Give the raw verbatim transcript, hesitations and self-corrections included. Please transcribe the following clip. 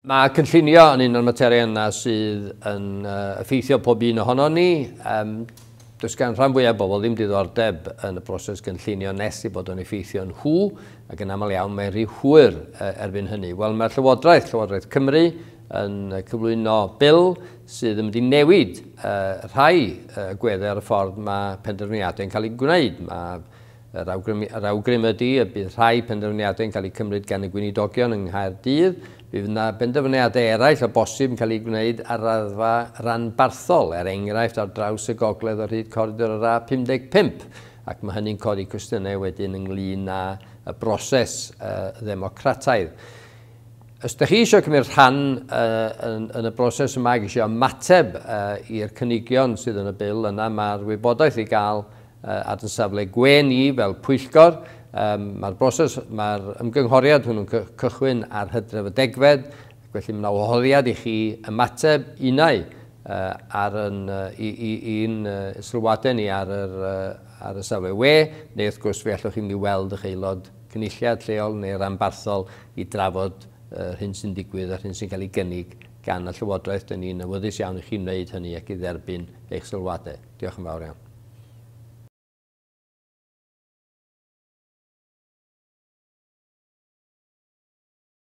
Mae cynllunio yn un o'r materion yna sydd yn uh, effeithio pob un ohono ni. Um, does gan rhan fwyaf o bobl ddim diddordeb yn y broses gynllunio nes i bod yn effeithio nhw, ac yn aml iawn mae'n rhy hwyr uh, erbyn hynny. Wel, mae'r Llywodraeth, Llywodraeth Cymru, yn cyflwyno bil sydd yn mynd i newid uh, rhai uh, gweddau ar y ffordd mae penderfyniadau yn cael eu gwneud. Mae Yr awgrym, yr awgrym ydy y bydd rhai penderfyniadau yn cael eu cymryd gan y gweinidogion yng Nghaerdydd. Bydd yna benderfyniadau eraill o bosib yn cael eu gwneud ar raddfa ranbarthol, er enghraifft ar draws y gogledd o'r hyd coridor yr A pum deg pump, ac mae hynny'n codi cwestiynau wedyn ynglyn â y broses uh, ddemocrataidd. Os ydych chi eisiau cymryd rhan uh, yn, yn y broses yma ac eisiau ymateb uh, i'r cynigion sydd yn y bil yna, mae'r wybodaeth i gael uh, ar y safle gwe ni fel pwyllgor. Um, mae'r broses, mae'r ymgynghoriad hwnnw'n cychwyn ar Hydref y degfed, ac felly mae yna wahoddiad i chi ymateb unau uh, ar yn, uh, i, i, i'n uh, sylwadau ni ar, yr, uh, ar y safle we, neu wrth gwrs fe allwch chi mynd i weld eich aelod cynulliad lleol neu ranbarthol i drafod yr uh, hyn sy'n digwydd a'r hyn sy'n cael ei gynnig gan y Llywodraeth. Dyn ni'n awyddus iawn i chi wneud hynny ac i dderbyn eich sylwadau. Diolch yn fawr iawn.